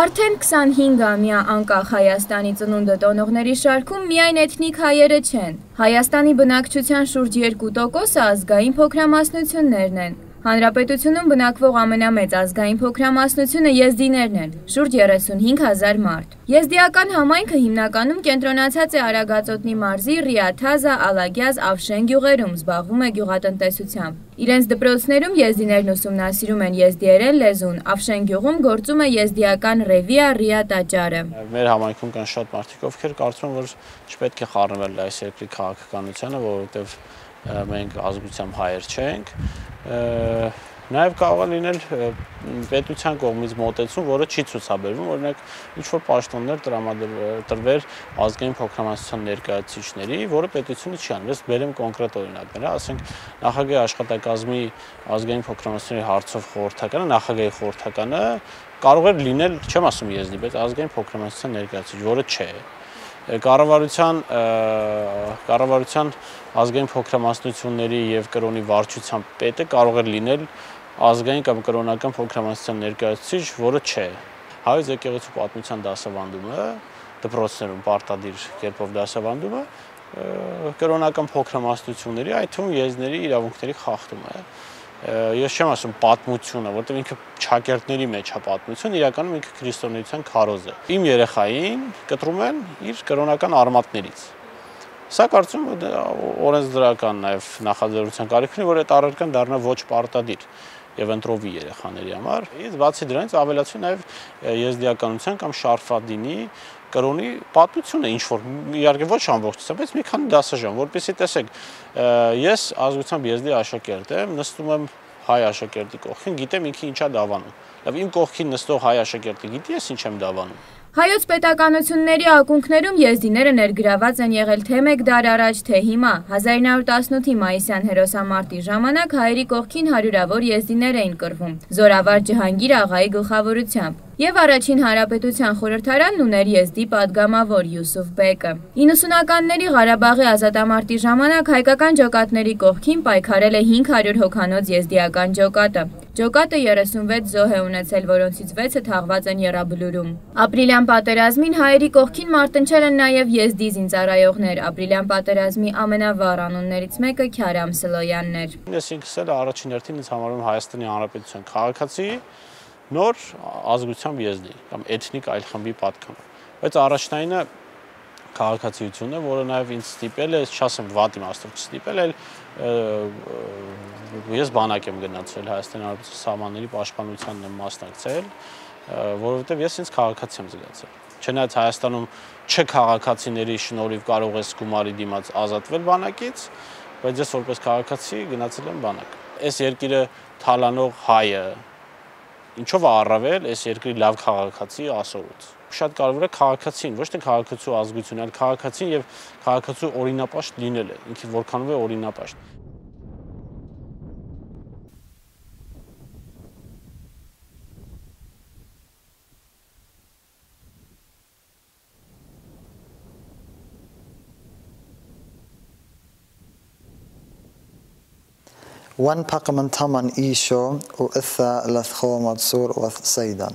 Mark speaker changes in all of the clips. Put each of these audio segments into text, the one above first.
Speaker 1: Արդեն 25-ամյա անկախ Հայաստանի ծնունդը տոնողների շարքում միայն էթնիկ հայերը չեն։ Հայաստանի բնակչության շուրջ 2%-ը ազգային փոքրամասնություններն են։ Հանրապետությունում բնակվող ամենամեծ ազգային փոքրամասնությունը եզդիներն են, շուրջ 35,000 մարդ։ Եզդիական համայնքը հիմնականում կենտրոնացած է Արագածոտնի մարզի Ռիաթազա, Ալագյազ, Ավշեն գյուղերում, զբաղվում է գյուղատնտեսությամբ։ Իրենց դպրոցներում եզդիներն ուսումնասիրում են եզդիերեն լեզուն, Ավշեն գյուղում գործում է եզդիական ռևիա Ռիա տաճարը։
Speaker 2: Մեր համայնքում կան շատ մարդիկ, ովքեր կարծում են, որ չպետք է խառնվել այս երկրի քաղաքականությանը, որովհետև մենք ազգությամբ հայեր չենք։ Նաև կարող է լինել պետության կողմից մոտեցում, որը չի ցուցաբերվում, օրինակ ինչ-որ պաշտոններ տրվել ազգային փոքրամասնության ներկայացուցիչների, որը պետությունը չի անում։ Ես բերեմ կոնկրետ օրինակներ, ասենք նախագահի աշխատակազմի ազգային փոքրամասնությունների հարցով խորհրդականը, նախագահի խորհրդականը կարող է լինել, չեմ ասում եզդի, բայց ազգային փոքրամասնության ներկայացուցիչ, որը չէ։ Կառավարության ազգային փոքրամասնությունների եւ կրոնի վարչության պետը կարող է լինել ազգային կամ կրոնական փոքրամասնության ներկայացուցիչ, որը չէ։ Հայոց եկեղեցու պատմության դասավանդումը, դպրոցներում պարտադիր կերպով դասավանդումը կրոնական փոքրամասնությունների, այդ թվում եզդիների իրավունքների խախտում է։ Ես չեմ ասում պատմությունը, որտեղ ինքը ճակերտների մեջ է պատմություն, իրականում ինքը քրիստոնեության քարոզ է։ Իմ երեխային կտրում են իր կրոնական արմատներից։ Սա կարծում եմ օրենսդրական նաև նախաձեռնության կարիք ունի, որ այդ առարկան դառնա ոչ պարտադիր եւ ընտրովի երեխաների համար։ Իսկ բացի դրանից ավելացվի նաև եզդիականության կամ շարֆադինի կրոնի պատմությունը ինչ-որ իհարկե ոչ ամբողջությամբ, բայց մի քանի դասաժամ, որպեսզի տեսեք, ես ազգությամբ եզդի աշակերտ եմ, նստում եմ հայ աշակերտի կողքին, գիտեմ ինքը ինչա դավանում։ Լավ, իմ կողքին նստող հայ աշակերտը գիտի ես ինչ եմ դավանում։
Speaker 1: Հայոց պետականությունների ակունքներում եզդիները ներգրաված են եղել թե մեկ դար առաջ, թե հիմա։ 1918-ի մայիսյան հերոսամարտի ժամանակ հայերի կողքին հարյուրավոր եզդիներ էին կռվում, Զորավար Ջհանգիր աղայի գլխավորությամբ։ Եվ առաջին հանրապետության խորհրդարանն ուներ եզդի падգամավոր Յուսուֆ բեկը։ 90-ականների Ղարաբաղի ազատամարտի ժամանակ հայկական ջոկատների կողքին պայքարել է 500 հոգանոց եզդիական ջոկատը։ Ջոկատը 36 զոհ է ունեցել, որոնցից 6-ը թաղված են Եռաբլուրում։ Ապրիլյան պատերազմին հայերի կողքին մարտնչել են նաև եզդի զինծառայողներ։ Ապրիլյան պատերազմի ամենավառ անուններից մեկը Քյարամ Սլոյանն էր։
Speaker 2: Ես ինքս էլ առաջին հերթին ինձ համարում Հայաստանի Հանրապետության քաղաքացի, նոր ազգությամբ եզդի կամ էթնիկ այլ խմբի պատգամ։ Բայց առաջնայինը քաղաքացիությունն է, որը նաև ինձ ստիպել է, չասեմ վատ իմաստով չստիպել, այլ ես բանակ եմ գնացել Հայաստանի Հանրապետության սահմանների պաշտպանությանն եմ մասնակցել, որովհետև ես ինձ քաղաքացի եմ զգացել։ Չնայած Հայաստանում չքաղաքացիների շնորհիվ կարող ես գումարի դիմաց ազատվել բանակից, բայց ես որպես քաղաքացի գնացել եմ բանակ։ Այս երկիրը թալանող հայը ինչով է առավել այս երկրի լավ քաղաքացի ասորուց։ Շատ կարևոր է քաղաքացին, ոչ թե քաղաքացու ազգություն, այլ քաղաքացին եւ քաղաքացու օրինապաշտ լինելը, ինքը որքանով է օրինապաշտ։
Speaker 3: وانبق من ثمن إيشو وإثا لثخو متصور وسيدا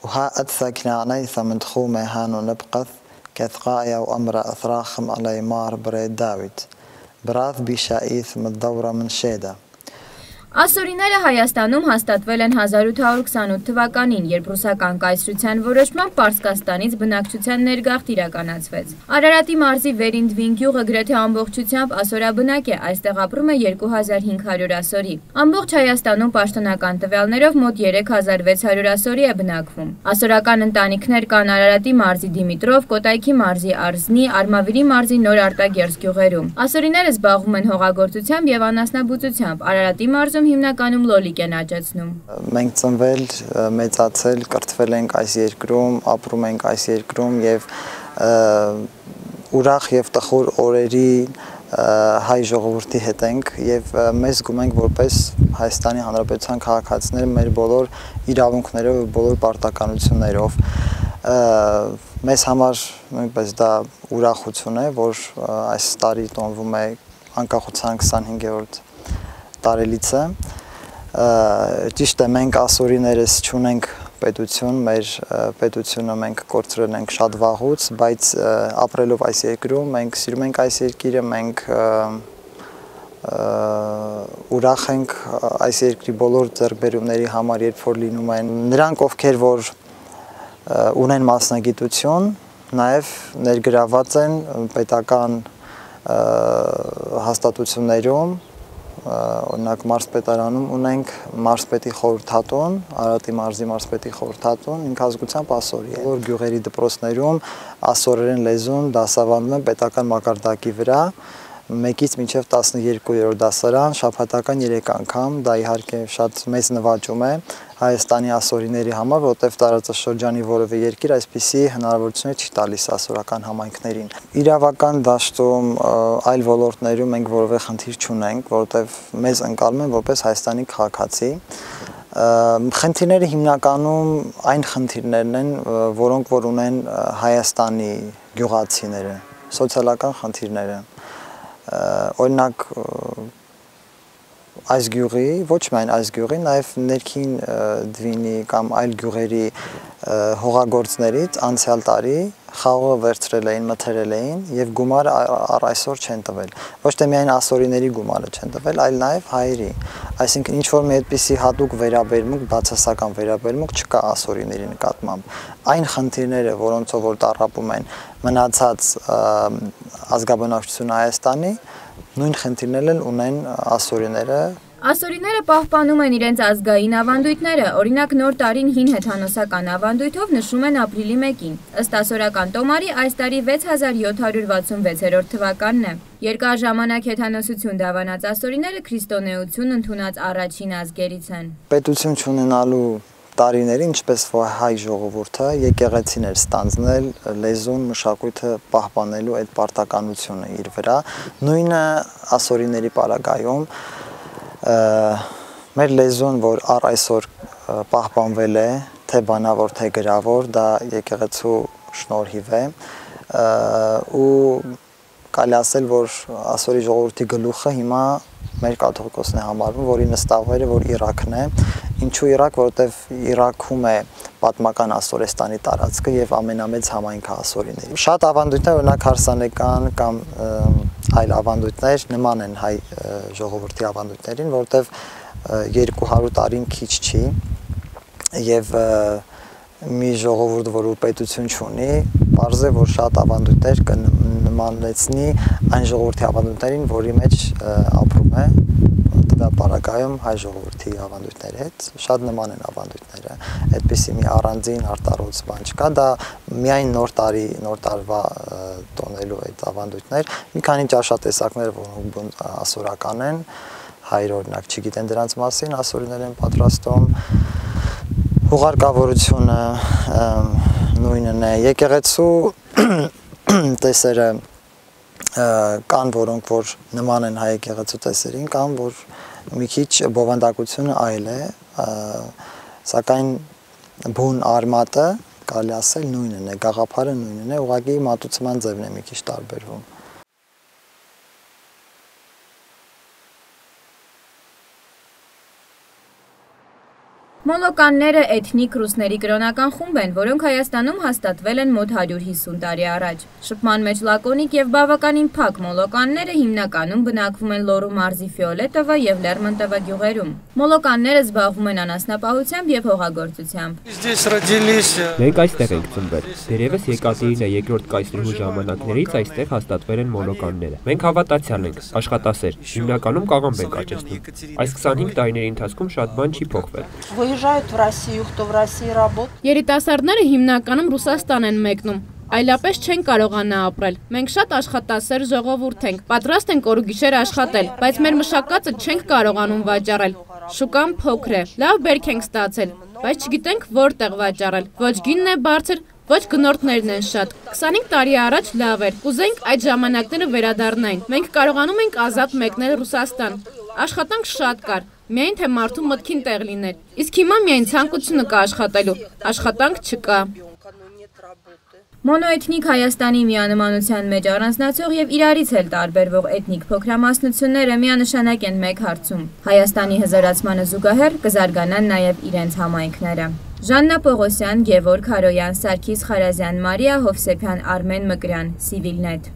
Speaker 3: وها أدثى كنعنيث من تخومي هانو نبقث كثقايا وأمر أثراخم على مار بريد داويد براث بشايث من الدورة من شيدا
Speaker 1: Ասորիները Հայաստանում հաստատվել են 1828 թվականին, երբ ռուսական կայսրության որոշմամբ Պարսկաստանից բնակչության ներգաղթ իրականացվեց։ Արարատի մարզի Վերինդվին գյուղը գրեթե ամբողջությամբ ասորաբնակ է, այստեղ ապրում է 2500 ասորի։ Ամբողջ Հայաստանում պաշտոնական տվյալներով մոտ 3600 ասորի է բնակվում։ Ասորական ընտանիքներ կան Արարատի մարզի Դիմիտրով, Կոտայքի մարզի Արզնի, Արմավիրի մարզի Նոր Արտագերս գյուղերում։ Ասորիները զբաղվում են հողագործությամբ եւ անասնաբուծությամբ։ Արարատի մարզում հիմնականում լոլիկ են աճեցնում։
Speaker 3: Մենք ծնվել, մեծացել, կրթվել ենք այս երկրում, ապրում ենք այս երկրում եւ ուրախ եւ տխուր օրերի հայ ժողովրդի հետ ենք եւ մեզ զգում ենք որպես Հայաստանի Հանրապետության քաղաքացիներ մեր բոլոր իրավունքներով եւ բոլոր պարտականություններով։ Մեզ համար նույնպես դա ուրախություն է, որ այս տարի տոնվում է անկախության 25-րդ տարելիցը, ճիշտ է մենք ասորիներս չունենք պետություն, մեր պետությունը մենք կորցրել ենք շատ վաղուց, բայց ապրելով այս երկրում մենք սիրում ենք այս երկիրը, մենք ուրախ ենք այս երկրի բոլոր ձեռքբերումների համար, երբ որ լինում են նրանք, ովքեր որ ունեն մասնագիտություն, նաև ներգրաված են պետական հաստատություններում, օրինակ մարզպետարանում ունենք մարզպետի խորհրդատուն, Արարատի մարզի մարզպետի խորհրդատուն, ինքնազգությամբ ասորի է, որ գյուղերի դպրոցներում ասորերեն լեզուն դասավանդում են պետական մակարդակի վրա, 1-ից մինչև 12-րդ դասարան, շաբաթական 3 անգամ, դա իհարկե շատ մեծ նվաճում է Հայաստանի ասորիների համար, որտեղ տարածաշրջանի որևէ երկիր այսպիսի հնարավորություններ չի տալիս ասորական համայնքներին։ Իրավական դաշտում, այլ ոլորտներում մենք որևէ խնդիր չունենք, որտեղ մեզ ընկալում են որպես Հայաստանի քաղաքացի։ Խնդիրները հիմնականում այն խնդիրներն են, որոնք որ ունեն Հայաստանի գյուղացիները, սոցիալական խնդիրները։ Օրինակ այս գյուղի, ոչ միայն այս գյուղի, նաև ներքին Դվինի կամ այլ գյուղերի հողագործներից անցյալ տարի խաղողը վերցրել էին, մթերել էին եւ գումարը առ այսօր չեն տվել։ Ոչ թե միայն ասորիների գումարը չեն տվել, այլ նաև հայերի։ Այսինքն ինչ որ մի այդպիսի հատուկ վերաբերմունք, բացասական վերաբերմունք չկա ասորիների նկատմամբ։ Այն խնդիրները, որոնցով որ տառապում են մնացած ազգաբնակչությունը Հայաստանի, նույն խնդիրներն ունեն ասորիները։
Speaker 1: Ասորիները պահպանում են իրենց ազգային ավանդույթները, օրինակ նոր տարին հին հեթանոսական ավանդույթով նշում են ապրիլի 1-ին։ Ըստ ասորական տոմարի այս տարի 6766 թվականն է։ Երկար ժամանակ հեթանոսություն դավանած ասորիները քրիստոնեություն ընդունած առաջին ազգերից են։
Speaker 3: Պետություն չունենալու տարիների, ինչպես որ հայ ժողովուրդը եկեղեցին էր ստանձնել լեզուն, մշակույթը պահպանելու այդ պարտականությունը իր վրա, նույնը ասորիների պարագայում մեր լեզուն, որ առ այսօր պահպանվել է, թե բանավոր, թե գրավոր, դա եկեղեցու շնորհիվ է, ու կարելի ասել, որ ասորի ժողովրդի գլուխը հիմա մեր կաթողիկոսն է համարվում, որի նստավայրը, որ Իրաքն է, ինչու Իրաք, որովհետև Իրաքում է պատմական Ասորեստանի տարածքը եւ ամենամեծ համայնքը ասորիների։ Շատ ավանդույթներ, օրինակ հարսանեկան կամ այլ ավանդույթներ նման են հայ ժողովրդի ավանդույթներին, որովհետև 200 տարին քիչ չի եւ մի ժողովուրդ, որ պետություն չունի, պարզ է, որ շատ ավանդույթներ կնմանեցնի այն ժողովրդի ավանդույթներին, որի մեջ ապրում է, տվյալ պարագայում հայ ժողովրդի ավանդույթների հետ, շատ նման են ավանդույթները, այդպիսի մի առանձին արտարոց բան չկա, դա միայն նոր տարվա տոնելու այդ ավանդույթներ, մի քանի ճաշատեսակներ, որոնք ասորական են, հայեր օրինակ չգիտեն դրանց մասին, ասորիներ են պատրաստում, հուղարկավորությունը նույնն է, եկեղեցու տեսերը կան, որոնք որ նման են հայ եկեղեցու տեսերին, կան, որ մի քիչ բովանդակությունը այլ է, սակայն բուն արմատը, կարելի ասել նույնն է, գաղափարը նույնն է, ուղղակի մատուցման ձևն է մի քիչ տարբերվում։
Speaker 1: Մոլոկանները էթնիկ ռուսների կրոնական խումբ են, որոնք Հայաստանում հաստատվել են մոտ 150 տարի առաջ։ Շփման մեջ լակոնիկ եւ բավականին փակ մոլոկանները հիմնականում բնակվում են Լոռու մարզի Ֆիոլետովա եւ Լերմոնտովա գյուղերում։ Մոլոկանները զբաղվում են անասնապահությամբ եւ հողագործությամբ։
Speaker 4: Մենք այստեղ ենք ծնվել։ Դերևս Եկատերինա II կայսրուհու ժամանակներից այստեղ հաստատվել են մոլոկանները։ Մենք հավատացյալ ենք, աշխատասեր, հիմնականում կաղամբ ենք աճեցնում։ Այս 25 տարիների ընթացքում շատ բան չի փոխվել։
Speaker 5: Երիտասարդները հիմնականում Ռուսաստան են մեկնում, այլապես չեն կարողանա ապրել։ Մենք շատ աշխատասեր ժողովուրդ ենք, պատրաստ ենք օրուգիշեր աշխատել, բայց մեր մշակածը չենք կարողանում վաճառել։ Շուկան փոքր է, լավ բերք ենք ստացել, բայց չգիտենք որտեղ վաճառել։ Ոչ գինն է բարձր, ոչ գնորդներն են շատ։ 25 տարի առաջ լավ էր, կուզենք այդ ժամանակները վերադառնային։ Մենք կարողանում ենք ազատ մեկնել Ռուսաստան։ Աշխատանք շատ կար, միայն թե մարդու մտքին տեղ լիներ։ Իսկ հիմա միայն ցանկությունը կա աշխատելու, աշխատանք չկա։
Speaker 1: Մոնոէթնիկ Հայաստանի միանմանության մեջ առանձնացող եւ իրարից էլ տարբերվող էթնիկ փոքրամասնությունները միանշանակ են մեկ հարցում. Հայաստանի հզորացմանը զուգահեռ կզարգանան նաեւ իրենց համայնքները։ Ժաննա Պողոսյան, Գևորգ Հարոյան, Սարգիս Խարազյան, Մարիա Հովսեփյան, Արմեն Մկրյան, Civilnet։